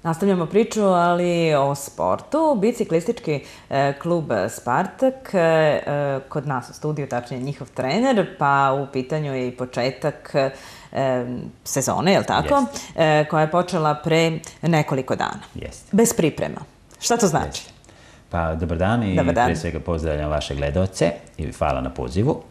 Nastavljamo priču, ali o sportu. Biciklistički klub Spartak, kod nas u studiju, tačnije njihov trener, pa u pitanju je i početak sezone, je li tako? Koja je počela pre nekoliko dana. Bez priprema. Šta to znači? Pa, dobar dan i pre svega pozdravljam vaše gledaoce i hvala na pozivu.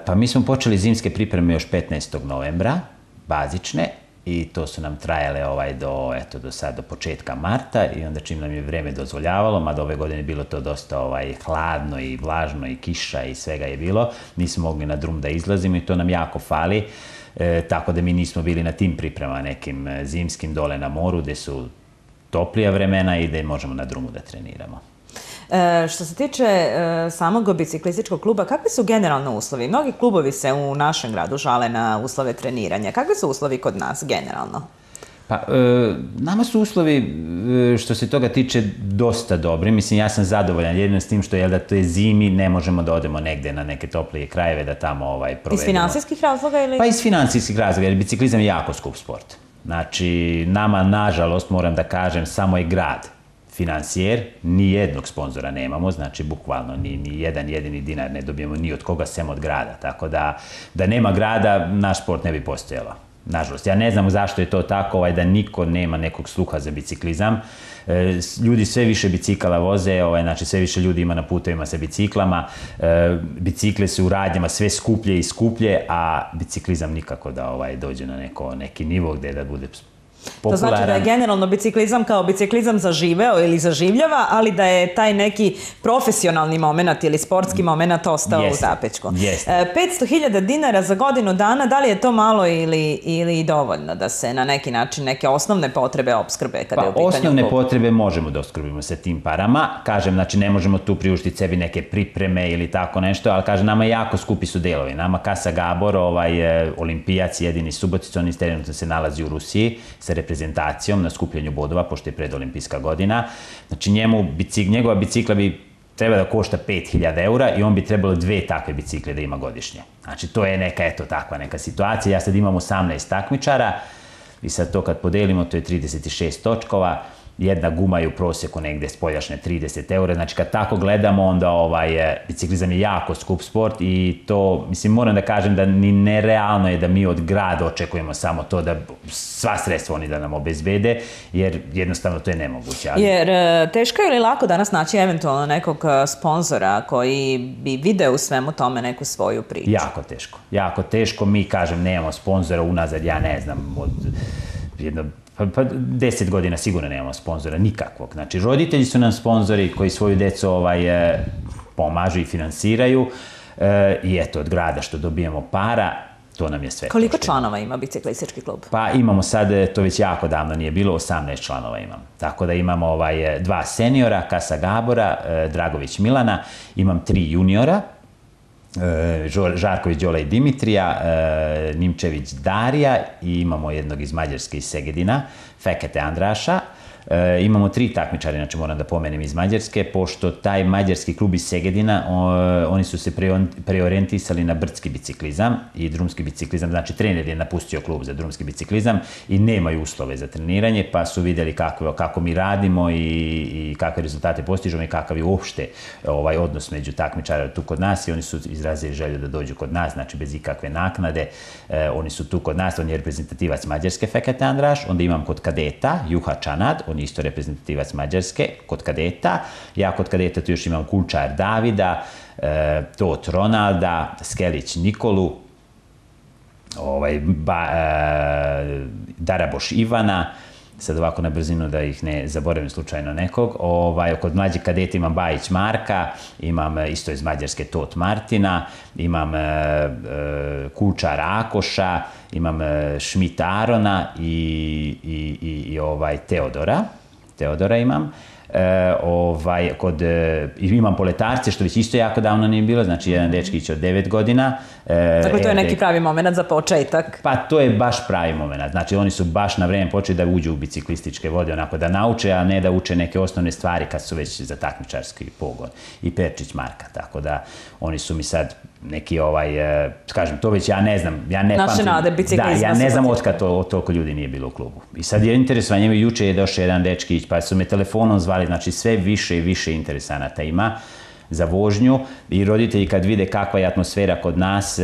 Pa mi smo počeli zimske pripreme još 15. novembra, bazične, i to su nam trajale do početka marta i onda čim nam je vreme dozvoljavalo, mada ove godine je bilo to dosta hladno i vlažno i kiša i svega je bilo, nismo mogli na drum da izlazimo i to nam jako fali, tako da mi nismo bili na tim pripremama nekim zimskim dole na moru gde su toplija vremena i gde možemo na drumu da treniramo. Što se tiče samog biciklističkog kluba, kakvi su generalno uslovi? Mnogi klubovi se u našem gradu žale na uslove treniranja. Kakvi su uslovi kod nas generalno? Pa, nama su uslovi, što se toga tiče, dosta dobri. Mislim, ja sam zadovoljan jedino s tim što je da to je zimi, ne možemo da odemo negde na neke toplije krajeve da tamo provedemo. Iz finansijskih razloga ili? Pa iz finansijskih razloga, jer biciklizam je jako skup sport. Znači, nama, nažalost, moram da kažem, samo je grad finansijer, ni jednog sponzora nemamo, znači bukvalno ni jedan jedini dinar ne dobijemo ni od koga sem od grada, tako da nema grada, naš sport ne bi postojalo. Nažalost, ja ne znam zašto je to tako, da niko nema nekog sluha za biciklizam. Ljudi sve više bicikala voze, znači sve više ljudi ima na putevima sa biciklama, bicikle su u radnjama sve skuplje i skuplje, a biciklizam nikako da dođe na neki nivo gde da bude popularan. To znači da je generalno biciklizam kao biciklizam zaživeo ili zaživljava, ali da je taj neki profesionalni moment ili sportski moment ostao u zapećku. 500.000 dinara za godinu dana, da li je to malo ili dovoljno da se na neki način neke osnovne potrebe opskrbe kada je u pitanju klub? Osnovne potrebe možemo da opskrbimo sa tim parama. Kažem, znači ne možemo tu priuštiti sebi neke pripreme ili tako nešto, ali kažem, nama jako skupi su delovi. Nama Casa Gabor, olimpijac jedini Subotica, on trenutno se nalazi u Rusiji sa reprezentacijom na skupljanju bodova, pošto je predolimpijska godina. Znači njegova bicikla bi treba da košta 5.000 eura i on bi trebalo 2 takve bicikle da ima godišnje. Znači to je neka, takva neka situacija. Ja sad imam 18 takmičara i sad to kad podelimo, to je 36 točkova. Jedna guma je u proseku negde spoljašnje 30 eura, znači kad tako gledamo onda biciklizam je jako skup sport i to, mislim, moram da kažem da ni nerealno je da mi od grada očekujemo samo to da sva sredstva oni da nam obezbede, jer jednostavno to je nemoguće. Jer teško je ili lako danas naći eventualno nekog sponzora koji bi video u svemu tome neku svoju priču? Jako teško, mi kažem nemamo sponzora unazad, ja ne znam, od pa 10 godina sigurno nemamo sponzora, nikakvog. Znači, roditelji su nam sponzori koji svoju decu pomažu i finansiraju i eto, od grada što dobijemo para, to nam je sve. Koliko članova ima biciklistički klub? Pa imamo sad, to već jako davno nije bilo, 18 članova imam. Tako da imamo 2 seniora, Casa Gabora, Dragović Milana, imam 3 juniora, Žarković Đola i Dimitrija, Nimčević Darija i imamo jednog iz Mađarske iz Segedina, Fekete Andraša. Imamo 3 takmičari, znači moram da pomenem iz Mađarske, pošto taj mađarski klub iz Segedina, oni su se preorijentisali na brdski biciklizam i drumski biciklizam, znači trener je napustio klub za drumski biciklizam i nemaju uslove za treniranje, pa su vidjeli kako mi radimo i kakve rezultate postižemo i kakav je uopšte odnos među takmičara tu kod nas i oni su izrazili želju da dođu kod nas, znači bez ikakve naknade, oni su tu kod nas, on je reprezentativac Mađarske Fekete Andraš, onda imam kod kadeta Juha Čanad, on je isto reprezentativac Mađarske, kod kadeta. Ja kod kadeta tu još imam Kulčar Davida, Tot Ronalda, Skelić Nikolu, Daraboš Ivana, sad ovako na brzinu da ih ne zaboravim slučajno nekog. Kod mlađih kadeta imam Bajić Marka, imam isto iz Mađarske Tot Martina, imam Kulčar Akoša, imam Šmit Arona i Teodora imam. Imam poletarce, što već isto jako davno nije bilo, znači jedan dečkić od 9 godina. Dakle, to je neki pravi moment za početak. Pa to je baš pravi moment, znači oni su baš na vreme počeli da uđu u biciklističke vode, onako da nauče, a ne da uče neke osnovne stvari kad su već za takmičarski pogon. I Perčić Marka, tako da oni su mi sad neki kažem, to već ja ne znam, ja ne pamtim. Naše nade biciklizma. Da, ja ne znam otkad toliko ljudi nije bilo u klubu. I sad je interesovanje, juče je došao jedan dečkić, pa su me telefonom zvali, znači sve više i više interesanata ima za vožnju i roditelji kad vide kakva je atmosfera kod nas,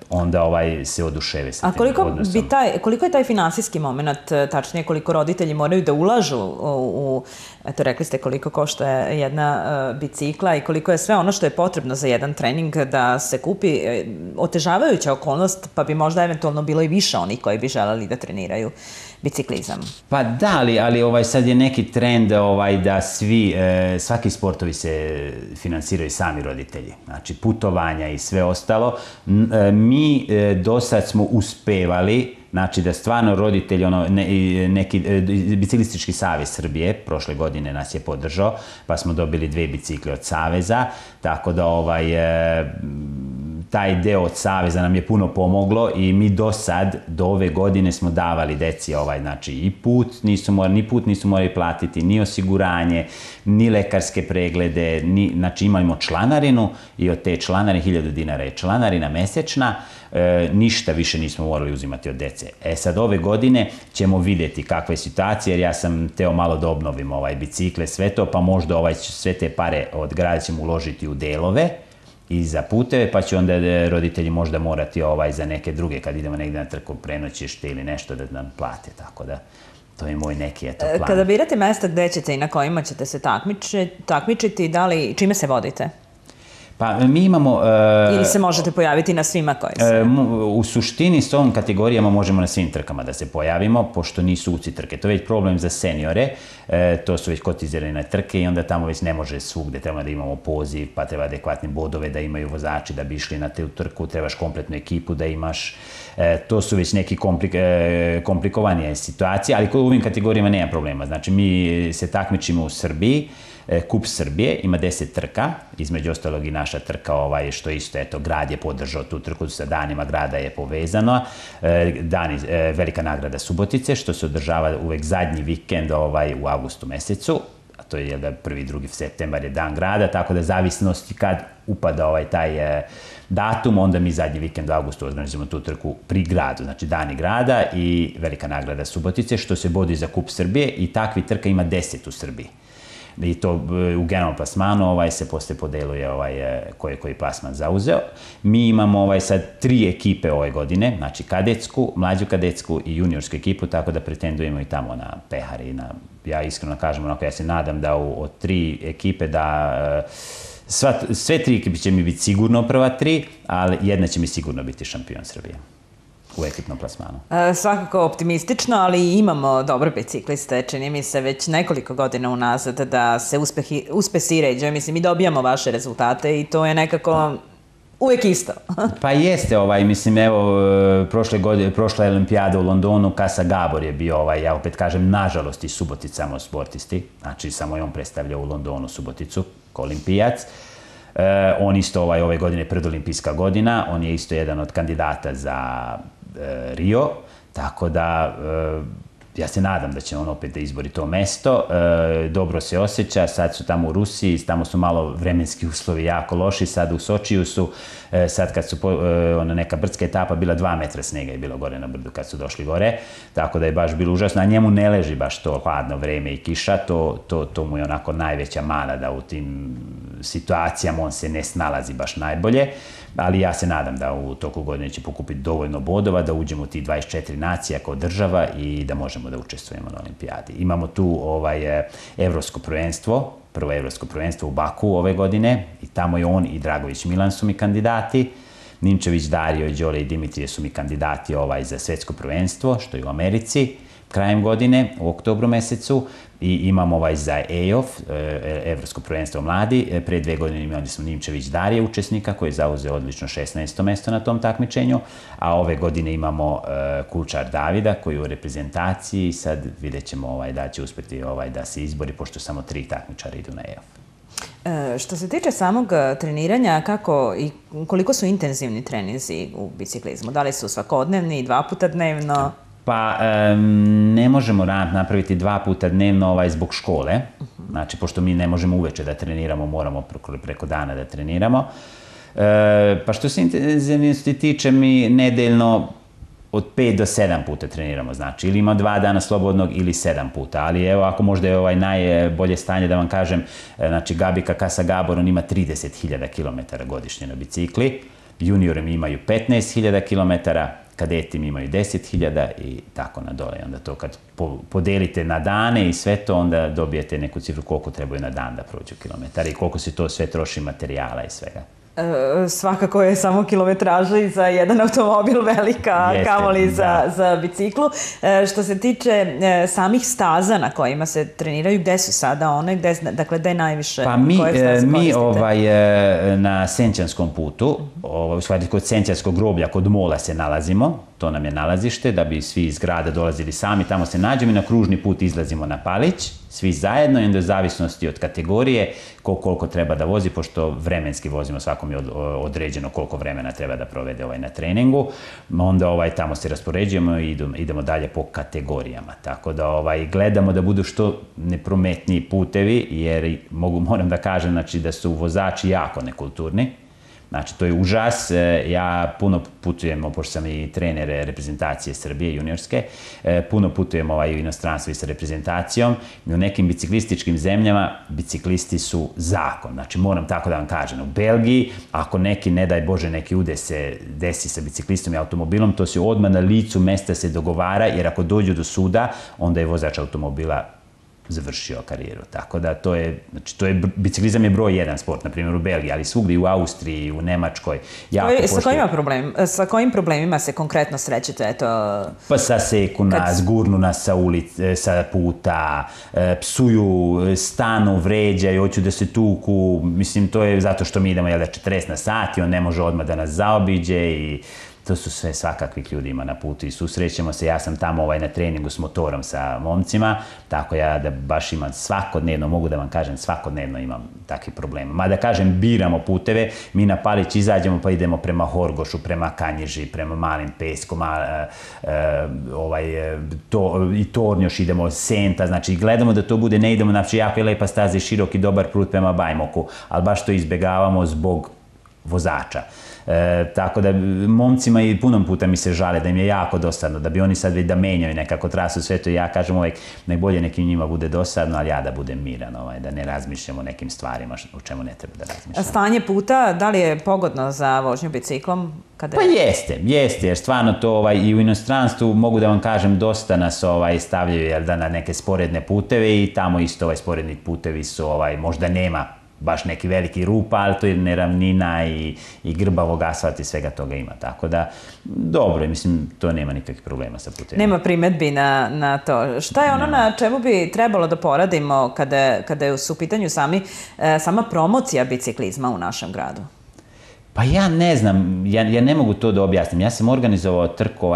onda se oduševe sa tim odnosom. Koliko je taj finansijski moment, tačnije koliko roditelji moraju da ulažu eto rekli ste koliko košta jedna bicikla i koliko je sve ono što je potrebno za jedan trening da se kupi, otežavajuća okolnost, pa bi možda eventualno bilo i više onih koji bi želeli da treniraju biciklizam. Pa da, ali sad je neki trend da svaki sportovi se finansiraju sami roditelji. Znači putovanja i sve ostalo. Mi do sad smo uspevali, znači da stvarno roditelji, neki Biciklistički savez Srbije prošle godine nas je podržao, pa smo dobili 2 bicikle od saveza, tako da taj deo od saveza nam je puno pomoglo i mi do sad, do ove godine smo davali deci znači i ni put nisu morali platiti, ni osiguranje, ni lekarske preglede, znači imamo članarinu i od te članarine 1000 dinara je članarina mesečna, ništa više nismo morali uzimati od dece. Sad ove godine ćemo vidjeti kakva je situacija, jer ja sam teo malo da obnovim bicikle, sve to, pa možda sve te pare od grada ćemo uložiti u delove i za puteve, pa će onda roditelji možda morati za neke druge, kad idemo negdje na trku prenoćište ili nešto da nam plate, tako da to je moj neki plan. Kada birate mesta gde ćete i na kojima ćete se takmičiti, čime se vodite? Pa mi imamo... Ili se možete pojaviti na svima koji se... U suštini s ovom kategorijama možemo na svim trkama da se pojavimo, pošto nisu UCI trke. To je već problem za seniore, to su već kotizirane trke i onda tamo već ne može svugde, treba da imamo poziv, pa treba adekvatne bodove da imaju vozači da bi išli na tu trku, trebaš kompletnu ekipu da imaš. To su već neki komplikovanije situacije, ali u ovim kategorijama nema problema. Znači mi se takmičimo u Srbiji, Kup Srbije, ima 10 trka, između ostalog i naša trka, što isto, eto, grad je podržao tu trku, sa danima grada je povezano, velika nagrada Subotice, što se održava uvek zadnji vikend u avgustu mesecu, a to je 1. 2. septembar je dan grada, tako da zavisnosti kad upada taj datum, onda mi zadnji vikend u avgustu organizujemo tu trku pri gradu, znači dani grada i velika nagrada Subotice, što se bodi za Kup Srbije i takvi trka ima 10 u Srbiji. I to u generalnom plasmanu se posle podeluje koji plasman zauzeo. Mi imamo sad 3 ekipe ove godine, znači kadetsku, mlađu kadetsku i juniorsku ekipu, tako da pretendujemo i tamo na pehari. Ja iskreno kažem, ja se nadam da od 3 ekipe da sve 3 ekipe će mi biti sigurno prva 3, ali jedna će mi sigurno biti šampion Srbije u ekipnom plasmanu. Svakako optimistično, ali imamo dobre bicikliste, čini mi se već nekoliko godina unazad da se uspesi ređaju. Mislim, mi dobijamo vaše rezultate i to je nekako uvijek isto. Pa jeste, mislim, evo, prošla olimpijada u Londonu, Kasa Gabor je bio, ja opet kažem, nažalost i Subotic samo sportisti, znači samo je on predstavljao u Londonu Suboticu kao olimpijac. On isto ove godine predolimpijska godina, on je isto jedan od kandidata za Rio, tako da ja se nadam da će on opet da izbori to mesto, dobro se osjeća, sad su tamo u Rusiji, tamo su malo vremenski uslovi jako loši, sad u Sočiju su, sad kad su neka brdska etapa bila 2 metra snega je bilo gore na brdu kad su došli gore, tako da je baš bilo užasno, a njemu ne leži baš to hladno vreme i kiša, to mu je onako najveća mana da u tim situacijama on se ne snalazi baš najbolje, ali ja se nadam da u toku godine će pokupiti dovoljno bodova, da uđemo u tih 24 nacija kao država i da možemo da učestvujemo na olimpijadi. Imamo tu evropsko prvenstvo, prvo evropsko prvenstvo u Baku ove godine i tamo je on i Dragović Milan su mi kandidati. Ninčević Dario, Đole i Dimitrije su mi kandidati za svetsko prvenstvo, što je u Americi, krajem godine, u oktobru mesecu. I imamo za EOF, Evropsko prvenstvo mladi. Pre 2 godine imali smo Ninčević Darije, učesnika, koji je zauzeo odlično 16. mesto na tom takmičenju, a ove godine imamo Kulčar Davida, koji je u reprezentaciji i sad vidjet ćemo da će uspjeti da se izbori, pošto samo 3 takmičara idu na EOF. Što se tiče samog treniranja, kako i koliko su intenzivni treninzi u biciklizmu? Da li su svakodnevni, 2 puta dnevno? Pa ne možemo napraviti 2 puta dnevno zbog škole, znači pošto mi ne možemo uveče da treniramo, moramo preko dana da treniramo. Pa što se intenzivnosti tiče, mi nedeljno od 5 do 7 puta treniramo, znači, ili ima 2 dana slobodnog ili 7 puta, ali evo, ako možda je najbolje stanje da vam kažem, znači, Gabika Kasa Gabor, on ima 30.000 km godišnje na bicikli, juniori mi imaju 15.000 km, kadeti mi imaju 10.000 i tako na dole. Onda to kad podelite na dane i sve to, onda dobijete neku cifru koliko trebaju na dan da prođu kilometara i koliko se to sve troši materijala i svega. Svakako je samo kilometraža i za jedan automobil velika, kamoli za biciklu. Što se tiče samih staza na kojima se treniraju, gde su sada one? Dakle, gde najviše? Pa mi na Senčanskom putu, u stvari kod Senčanskog groblja, kod mola se nalazimo, to nam je nalazište, da bi svi iz grada dolazili sami, tamo se nađemo i na kružni put izlazimo na Palić, svi zajedno i onda u zavisnosti od kategorije koliko treba da vozi, pošto vremenski vozimo, svakom je određeno koliko vremena treba da provede na treningu, onda tamo se raspoređujemo i idemo dalje po kategorijama, tako da gledamo da budu što neprometniji putevi, jer moram da kažem, znači, da su vozači jako nekulturni. Znači, to je užas. Ja puno putujem, pošto sam i trener reprezentacije Srbije, juniorske, puno putujem u inostranstvu i sa reprezentacijom. I u nekim biciklističkim zemljama biciklisti su zakon. Znači, moram tako da vam kažem. U Belgiji, ako neki, ne daj Bože, neki udes se desi sa biciklistom i automobilom, to se odmah na licu mesta se dogovara, jer ako dođu do suda, onda je vozač automobila završio karijeru. Tako da biciklizam je broj 1 sport, na primjer u Belgiji, ali svugdje u Austriji, u Nemačkoj. Sa kojim problemima se konkretno srećete? Pa saseku nas, gurnu nas sa puta, psuju, stanu, vređaju, hoću da se tuku. Mislim, to je zato što mi idemo 40 na sat i on ne može odmah da nas zaobiđe i to su sve svakakvih ljudi ima na putu i susrećemo se. Ja sam tamo na treningu s motorom sa momcima, tako ja da baš imam svakodnevno, mogu da vam kažem, svakodnevno imam takvih problema. Mada kažem, biramo puteve, mi na Palić izađemo pa idemo prema Horgošu, prema Kanjiži, prema Malim Peskom, i Tornjoš, idemo Senta, znači gledamo da to bude, ne idemo, znači jako je lepa staza i široki dobar put prema Bajmoku, ali baš to izbjegavamo zbog vozača. Tako da momcima i punom puta mi se žale da im je jako dosadno, da bi oni sad već da menjaju nekako trasu sve to i ja kažem uvek najbolje nekim njima bude dosadno, ali ja da budem miran, da ne razmišljam o nekim stvarima o čemu ne treba da razmišljam. Stanje puta, da li je pogodno za vožnju biciklom? Pa jeste, jer stvarno to i u inostranstvu mogu da vam kažem dosta nas stavljaju na neke sporedne puteve i tamo isto sporedni putevi su možda nema baš neki veliki rupa, ali to je neravnina i grbavog asfalta i svega toga ima. Tako da, dobro, mislim, to nema nikakvih problema sa putevima. Nema primetbi na to. Šta je ono na čemu bi trebalo da poradimo kada je u pitanju sama promocija biciklizma u našem gradu? Pa ja ne znam, ja ne mogu to da objasnim. Ja sam organizovao trku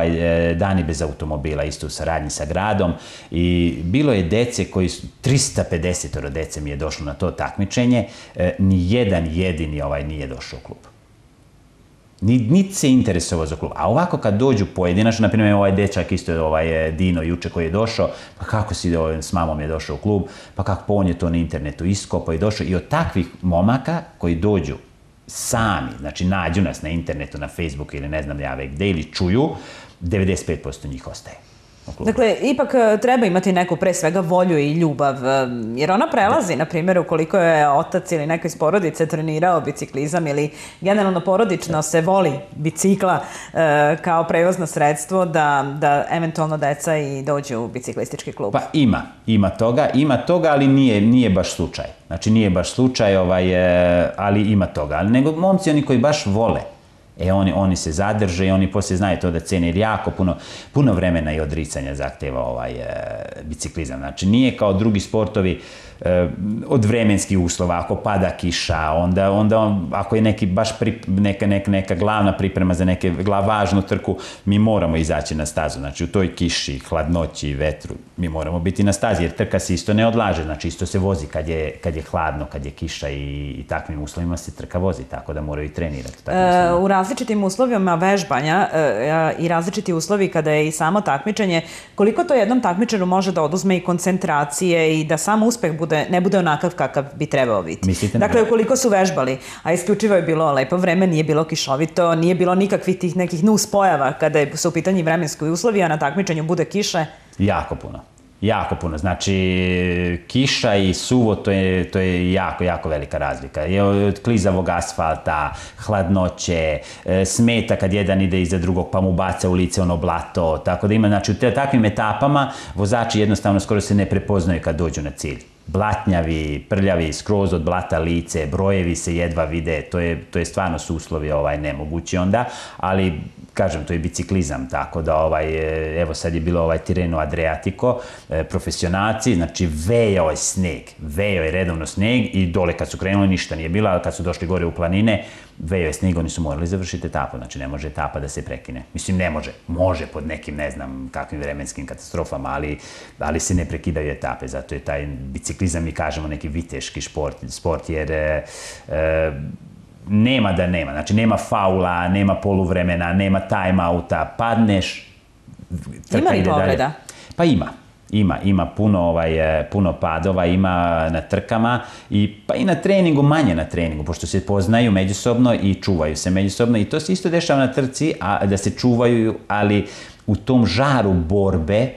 Dani bez automobila, isto u saradnji sa gradom i bilo je dece koji su, 350 dece mi je došlo na to takmičenje, ni jedan jedini nije došao u klub. Niti se interesovao za klub. A ovako kad dođu pojedinačno, na primjer ovaj dečak isto Dino juče koji je došao, pa kako si s mamom je došao u klub, pa kako on je to na internetu iskopao i došao. I od takvih momaka koji dođu sami, znači nađu nas na internetu, na Facebooku ili ne znam ja već gde, ili čuju, 95% njih ostaje. Dakle, ipak treba imati neku pre svega volju i ljubav, jer ona prelazi, na primjer, ukoliko je otac ili neko iz porodice trenirao biciklizam ili generalno porodično se voli bicikla kao prevozno sredstvo da eventualno deca i dođu u biciklistički klub. Pa ima toga, ali nije baš slučaj. Znači nije baš slučaj, ali ima toga. Ali nego momci oni koji baš vole, oni se zadrže i oni poslije znaju to da cene, jer jako puno vremena i odricanja zahteva biciklizam. Znači nije kao drugi sportovi od vremenskih uslova, ako pada kiša, onda ako je neka glavna priprema za neke važnu trku, mi moramo izaći na stazu. Znači u toj kiši, hladnoći, vetru, mi moramo biti na stazi, jer trka se isto ne odlaže, znači isto se vozi kad je hladno, kad je kiša i takvim uslovima se trka vozi, tako da moraju i trenirati. različitim uslovima vežbanja i različiti uslovi kada je i samo takmičenje, koliko to jednom takmičaru može da oduzme i koncentracije i da sam uspeh ne bude onakav kakav bi trebao biti? Dakle, ukoliko su vežbali, a isključivo je bilo lepo vreme, nije bilo kišovito, nije bilo nikakvih tih nekih nuspojava kada su u pitanju vremenski uslovi, a na takmičenju bude kiše? Jako puno. Jako puno. Znači, kiša i suvo, to je jako, jako velika razlika. Od klizavog asfalta, hladnoće, smeta kad jedan ide iza drugog pa mu baca u lice ono blato. Tako da ima, znači, u takvim etapama vozači jednostavno skoro se ne prepoznaju kad dođu na cilj. Blatnjavi, prljavi, skroz od blata lice, brojevi se jedva vide, to je stvarno su uslovi nemogući onda, ali kažem, to je biciklizam, tako da evo sad je bilo Tirreno Adriatico, profesionalci, znači vejao je sneg, vejao je redovno sneg i dole kad su krenuli ništa nije bilo, ali kad su došli gore u planine, vejao je sneg, oni su morali završiti etapu, znači ne može etapa da se prekine. Mislim, ne može, može pod nekim, ne znam, kakvim vremenskim katastrofama, ali se ne prekidaju etape, zato je taj biciklizam, mi kažemo, neki viteški sport, jer nema da nema, znači nema faula, nema poluvremena, nema time-outa, padneš, trka ide dalje. Ima li povreda? Pa ima puno padova, ima na trkama, pa i na treningu, manje na treningu, pošto se poznaju međusobno i čuvaju se međusobno i to se isto dešava na trci, da se čuvaju, ali u tom žaru borbe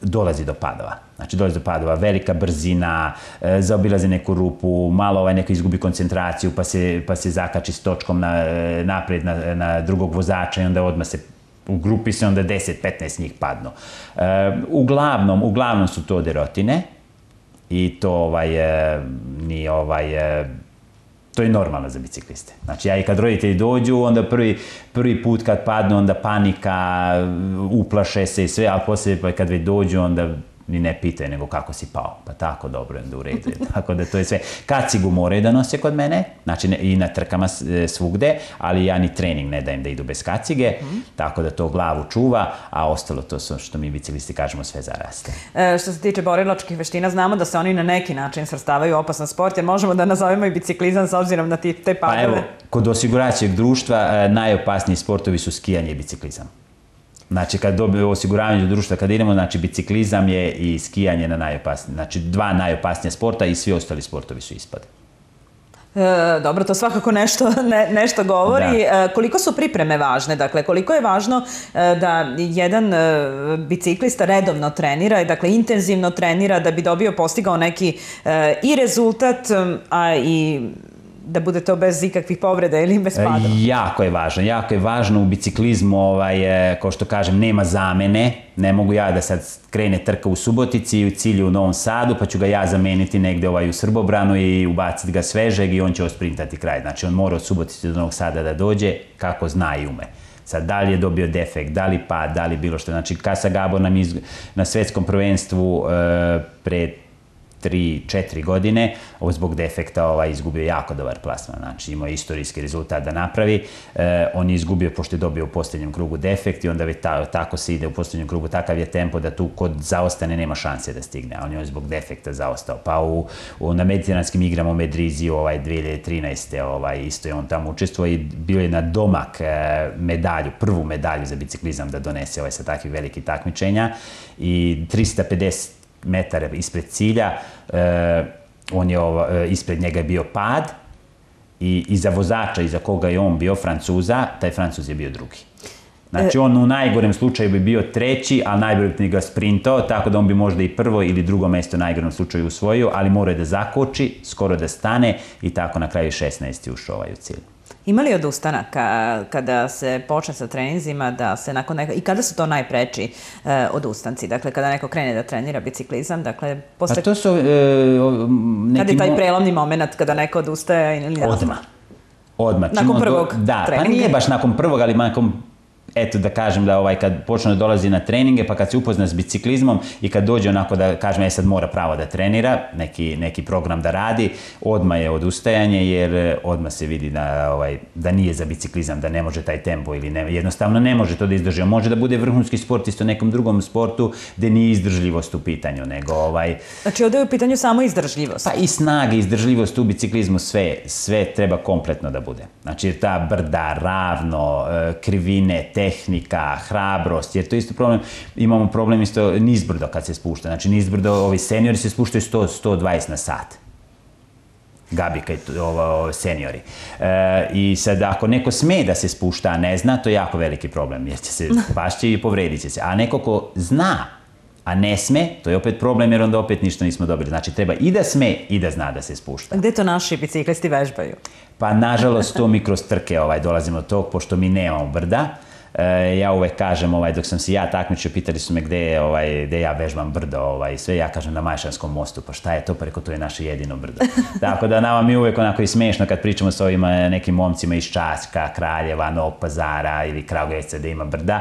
dolazi do padova. Znači, dolazi do padova, velika brzina, zaobilazi neku rupu, malo neko izgubi koncentraciju, pa se zakači s točkom napred na drugog vozača i onda odmah se u grupi se onda 10-15 njih padnu. Uglavnom su to derotine i to to je normalno za bicikliste. Znači, ja i kad roditelji dođu, onda prvi put kad padnu, onda panika, uplaše se i sve, ali poslije kad već dođu, onda ni ne pitaju nego kako si pao. Pa tako, dobro, onda u redu. Tako da to je sve. Kacigu moraju da nose kod mene, znači i na trkama svugde, ali ja ni trening ne dajem da idu bez kacige, tako da to glavu čuva, a ostalo to su, što mi biciklisti kažemo, sve zaraste. Što se tiče borilačkih veština, znamo da se oni na neki način svrstavaju u opasan sport, jer možemo da nazovemo i biciklizam s obzirom na te padove. Pa evo, kod osiguravajućeg društva najopasniji sportovi su skijanje i biciklizam. Znači, kad dobiju osiguravanje društva, kad idemo, znači, biciklizam je i skijanje na najopasnije. Znači, dva najopasnije sporta i svi ostali sportovi su ispade. Dobro, to svakako nešto govori. Koliko su pripreme važne? Dakle, koliko je važno da jedan biciklista redovno trenira, dakle, intenzivno trenira da bi postigao neki i rezultat, a i da bude to bez ikakvih povreda ili bez padova? Jako je važno u biciklizmu, kao što kažem, nema zamene, ne mogu ja da sad krene trka u Subotici i u cilju u Novom Sadu, pa ću ga ja zameniti negde u Srbobranu i ubaciti ga svežeg i on će osprintati kraj. Znači, on mora od Subotice do Novog Sada da dođe kako zna i ume. Sad, da li je dobio defekt, da li pad, da li bilo što. Znači, Kasa Gabor nam na svetskom prvenstvu pred 3-4 godine, zbog defekta izgubio jako dobar plasman, znači imao istorijski rezultat da napravi, on je izgubio pošto je dobio u posljednjem krugu defekt i onda već tako se ide u posljednjem krugu, takav je tempo da tu kod zaostane nema šanse da stigne, a on je zbog defekta zaostao. Pa na mediteranskim igrama u Medriziju 2013. Isto je on tamo učestvovao i bio je na domak medalju, prvu medalju za biciklizam da donese sa takvih velikih takmičenja i 350 metara ispred cilja, ispred njega je bio pad i iza vozača, iza koga je on bio, Francuza, taj Francuz je bio drugi. Znači, on u najgorem slučaju bi bio treći, ali najbolje bi ga sprintao, tako da on bi možda i prvo ili drugo mesto u najgorem slučaju usvojio, ali morao je da zakoči, skoro da stane i tako na kraju 16. ušao u cilj. Ima li odustanaka kada se počne sa treninzima, da se nakon i kada su to najpreči odustanci? Dakle, kada neko krene da trenira biciklizam, dakle, posle... Pa to su Kada je taj prelomni moment kada neko odustaje ili ne znam? Odmah. Nakon prvog treninga? Da, pa nije baš nakon prvog, ali nakon eto da kažem da kad počne da dolazi na treninge, pa kad se upozna s biciklizmom i kad dođe onako da kažem, sad mora pravo da trenira, neki program da radi, odmah je odustajanje, jer odmah se vidi da nije za biciklizam, da ne može taj tempo ili jednostavno ne može to da izdrži. Može da bude vrhunski sportista u nekom drugom sportu gde nije izdržljivost u pitanju, nego Znači, ovde je u pitanju samo izdržljivost. Pa i snaga, izdržljivost u biciklizmu, sve treba kompletno da bude. Znači, ta brda, ravno, krivine, tehnika, hrabrost, jer to je isto problem, imamo problem isto nizbrdo kad se spušta. Znači, nizbrdo, ovi seniori se spuštaju 100-120 na sat. Gabika i seniori. I sad, ako neko sme da se spušta, a ne zna, to je jako veliki problem, jer će se pašće i povredit će se. A neko ko zna, a ne sme, to je opet problem, jer onda opet ništa nismo dobili. Znači, treba i da sme i da zna da se spušta. Gde to naši biciklisti vežbaju? Pa, nažalost, to mi kroz trke dolazimo do tog, pošto mi nemamo brda. Ja uvek kažem, dok sam se ja takmičio, pitali su me gde ja vežbam brdo i sve, ja kažem na Majšanskom mostu, pa šta je to, pa reko, to je naše jedino brdo. Tako da nama mi uvek onako i smešno kad pričamo s ovim nekim momcima iz Čačka, Kraljeva, Novog Pazara ili Kragujevca gde ima brda,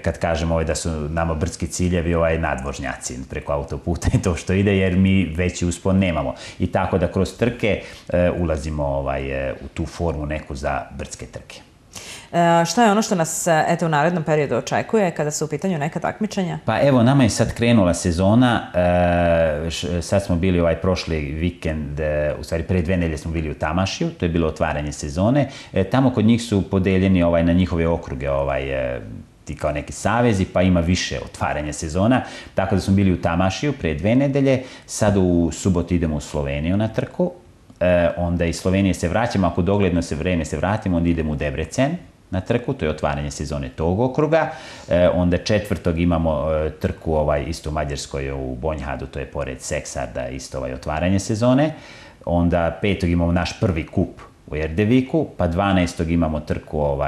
kad kažem da su nama brdski ciljevi nadvožnjaci preko autoputa i to što ide, jer mi veći uspon nemamo. I tako da kroz trke ulazimo u tu formu neku za brdske trke. Šta je ono što nas u narednom periodu očekuje kada su u pitanju neka takmičenja? Pa evo, nama je sad krenula sezona, sad smo bili prošli vikend, u stvari pre 2 nedelje smo bili u Tamašiju, to je bilo otvaranje sezone, tamo kod njih su podeljeni na njihove okruge ti kao neki savezi, pa ima više otvaranja sezona, tako da smo bili u Tamašiju pre 2 nedelje, sad u subotu idemo u Sloveniju na trku, onda iz Slovenije se vraćamo, ako dogledno vreme se vratimo, onda idemo u Debrecen na trku, to je otvaranje sezone tog okruga, onda 4. imamo trku isto u Mađarskoj u Bonjhadu, to je pored Seksarda, isto otvaranje sezone, onda 5. imamo naš prvi kup u Erdeviku, pa 12. imamo trku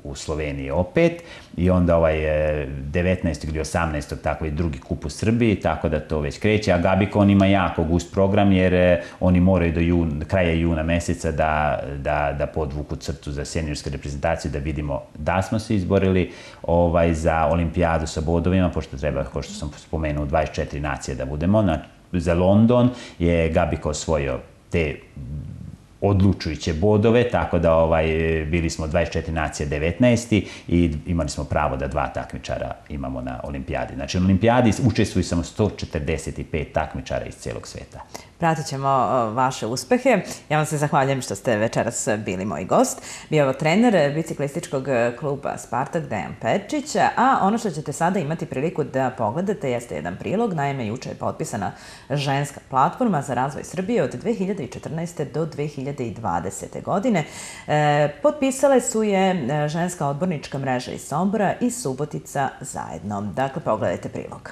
u Sloveniji opet i onda 19. ili 18. tako i drugi kup u Srbiji, tako da to već kreće, a Gabika on ima jako gust program jer oni moraju do kraja juna meseca da podvuku crtu za seniorsku reprezentaciju, da vidimo da smo se izborili za olimpijadu sa bodovima, pošto treba, kao što sam spomenuo, 24 nacije da budemo. Za London je Gabika osvojio te odlučujuće bodove, tako da bili smo 24 nacije 19. i imali smo pravo da 2 takmičara imamo na olimpijadi. Znači, na olimpijadi učestvuju samo 145 takmičara iz celog sveta. Pratit ćemo vaše uspehe. Ja vam se zahvaljujem što ste večeras bili moj gost. Bio je trener biciklističkog kluba Spartak Dejan Perčić, a ono što ćete sada imati priliku da pogledate jeste jedan prilog. Naime, juče je potpisana ženska platforma za razvoj Srbije od 2014. do 2020. godine. Potpisale su je ženska odbornička mreža iz Sombora i Subotica zajedno. Dakle, pogledajte prilog.